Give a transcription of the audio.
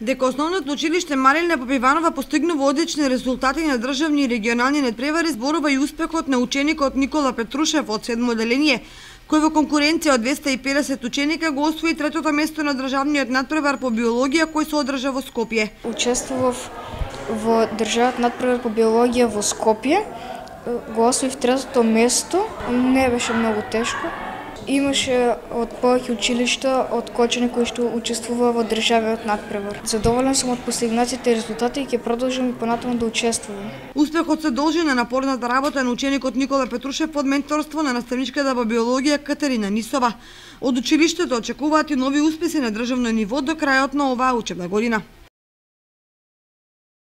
Дека основното училиште Марилина Попиванова постигнува одлични резултати на државни и регионални надпревари зборува и успехот на ученикот Никола Петрушев од 7 оделение, кој во конкуренција од 250 ученика го освои третото место на државниот надпревар по биологија кој се одржа во Скопје. Учествував во државниот надпревар по биологија во Скопје, го освоив третото место, не беше многу тешко. Имаше од повеќе училишта од Кочани кои што учествува во државниот надпревар. Задоволен сум од постигнатите резултати и ќе продолжам и понатаму да учествувам. Успехот се должи на напорната работа на ученикот Никола Петрушев под менторство на наставничката по биологија Катерина Нисова. Од училиштето очекуваат и нови успеси на државно ниво до крајот на оваа учебна година.